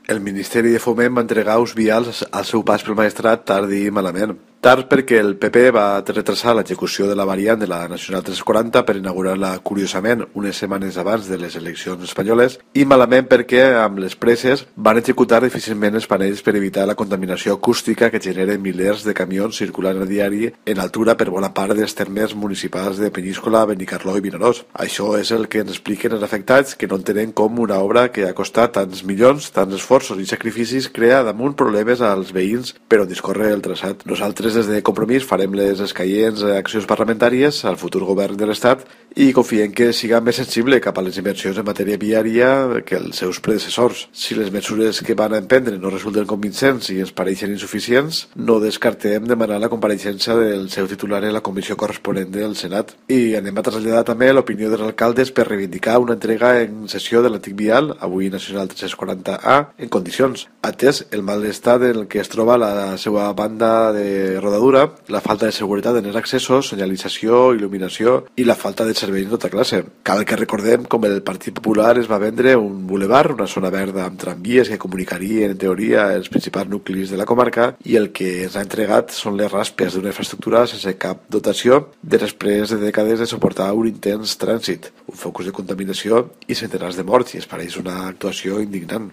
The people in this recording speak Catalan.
El Ministeri de Foment va entregar uns vials al seu pas pel Maestrat tard i malament. Tard perquè el PP va retrasar l'execució de la variant de la Nacional 340 per inaugurar-la, curiosament, unes setmanes abans de les eleccions espanyoles, i malament perquè, amb les presses, van executar difícilment els panells per evitar la contaminació acústica que generen milers de camions circulant a diari en altura per bona part dels termes municipals de Peníscola, Benicarló i Vinaròs. Això és el que ens expliquen els afectats, que no entenen com una obra que ha costat tants milions, tants esforços i sacrificis crea damunt problemes als veïns per on discorre el traçat. Nosaltres des de Compromís farem les escaients accions parlamentàries al futur govern de l'Estat i confiem que siga més sensible cap a les inversions en matèria viària que els seus predecessors. Si les mesures que van a emprendre no resulten convincents i ens pareixen insuficients, no descartem demanar la compareixença del seu titular en la comissió corresponent del Senat. I anem a traslladar també l'opinió dels alcaldes per reivindicar una entrega en sessió de l'antic vial, avui Nacional 340A, en condicions, atès el mal estat en el que es troba la seva banda de rodadura, la falta de seguretat en els accessos, senyalització, il·luminació i la falta de serveis de tota classe. Cal que recordem com el Partit Popular es va vendre un bulevard, una zona verda amb tramvies que comunicarien en teoria els principals nuclis de la comarca, i el que ens ha entregat són les raspes d'una infraestructura sense cap dotació després de dècades de suportar un intens trànsit, un focus de contaminació i centenars de morts, i es pareix una actuació indignant.